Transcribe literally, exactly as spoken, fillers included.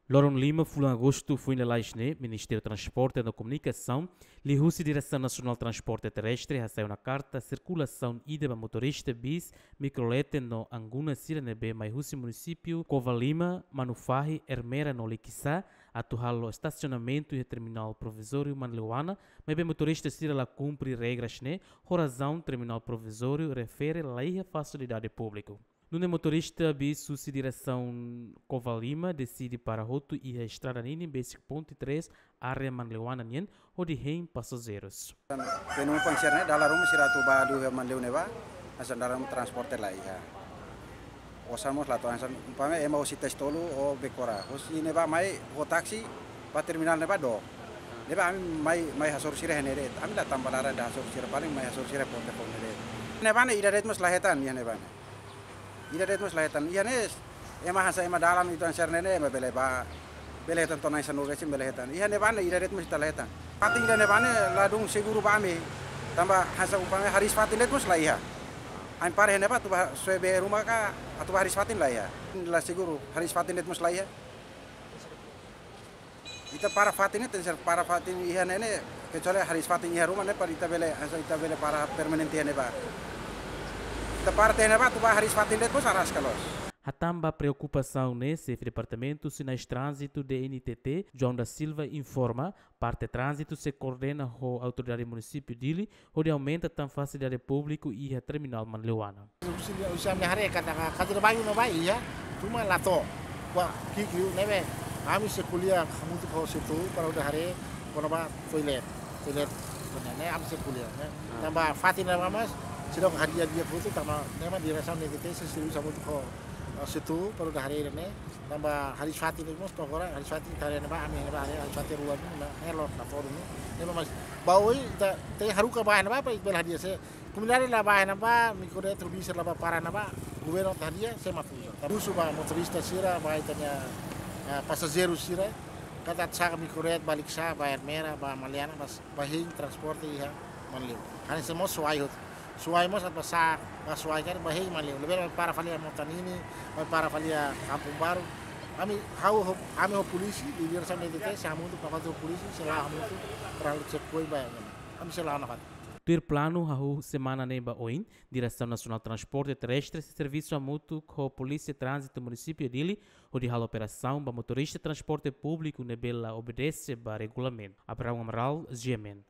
Loron lima fulan Agostu foin lalais ne'e, Ministériu Transporte no Komunikasaun, liuhusi Diresaun Nasionál Transporte Terrestre, hasai ona karta sirkulasaun ida ba motorista bis, mikrolete no anguna sira ne'ebé mai husi munisípiu Covalima, Manufahi, Ermera no Likisá, atu halo estasionamentu iha terminál provizóriu Manleuana, maibé motorista sira la kumpre regras ne'e, ho razaun terminál provizóriu refere la iha fasilidade públiku. Nune'e motorista bis husi diresaun Covalima deside para hotu iha estrada ninin besik ponte três, área Manleuana nian, hodi hein pasajeirus. Penumpang sira ne'e dala ruma sira atu ba hadi'a Manleu ne'ebá, hanesan dala ruma transporte la iha. Osan mós la to'o, hanesan umpama ema hosi Taixi Tolu ou Becora. Hosi ne'ebá mai ho taksi ba terminál ne'ebá dook. Ne'ebá ami mai, mai hasoru sira iha ne'e de'it. Ami la tama ba laran ida hasoru sira, paling mai hasoru sira ponte fó ne'e de'it. Ne'ebá ne'e ida de'it mós la hetan iha ne'ebá ne'e. Ida de'it mós la hetan. Iha ne'e ema hanesan ema dalan ita sira ne'e ne'e ema bele ba, bele hetan to'o na'in sanulu resin bele hetan. Iha ne'ebá ne'e ida de'it mós ita la hetan. Fatin ida ne'ebá ne'e ladún seguru ba ami. Tanba hanesan umpama hariis fatin de'it mós la iha. Ami para iha ne'ebá atu ba soe bee ruma ka atu ba hariis fatin la iha. La seguru, hariis fatin de'it mós la iha. Ita para fatin ne'e, tenke ser para fatin iha ne'e ne'e, kecuali hariis fatin iha ruma ne'e para ita bele, hanesan ita bele para permanente iha ne'ebá. Ita para tiha ne'ebá atu ba hariis fatin de'it mós araska loos. Hatán ba preokupasaun ne'e, Xefe Departamentu Sinais Tránzitu, D N T T, João da Silva, informa, parte tránzitu sei koordena ho Autoridade Munisípiu Dili, hodi aumenta tan fasilidade públiku iha terminál Manleuana. Husi, husi ami haree katak, katak bayu no bayu iha, cuma la to'o. Kua, ki'ik liu ne'ebé, ami sei ko'alia hamutuk ho SEATOU para hodi haree kona-ba toilet, toilet ne'e, ne'e ami sei ko'alia ne'e. Ah. Tanba fatin ne'ebá mós, seidauk hadi'a di'ak hotu, tanba ne'e mak diresaun D N T T sei servisu hamutuk ho, eh, SEATOU para hodi haree ne'e. Tanba hariis fatin ne'e mós to'o agora, hariis fatin ita haree ne'ebá, ami ne'ebá haree, hariis fatin rua ne'e, ne'e loos la to'o duni. Ne'ebé mós, ba oin ita tenke haruka ba ne'ebá, para ita bele hadi'a se komunidade la ba ne'ebá, mikrolete ho bis la ba para ne'ebá, governu atu hadi'a, sé mak uza. Husu ba motorista sira, ba ita-nia, eh, pasajeiru sira, katak saka mikrolete ba Likisá, ba Ermera, ba Maliana, ba, ba hein transporte iha Manleu. Hanesan mós Suai hotu. Suai mós atu ba sa'e, ba Suai karik ba hein Manleu. Lebih ba para fali iha Motanini, ba para fali iha Kampung Baru. Ami, ha'u ho, ami ho polísia, di diresaun D N T T, sei hamutuk nafatin ho polísia, sei la'o hamutuk, para halo checkpoint ba. Ami sei la'o nafatin. Tuir planu, hahú semana ne'e ba oin, Diresaun Nasionál Transporte Terrestre sei servisu hamutuk ho Polísia Tránzitu Munisípiu Dili, hodi halo operasaun ba motorista transporte públiku ne'ebé la obedese ba regulamentu. Abraão Amaral, G M N.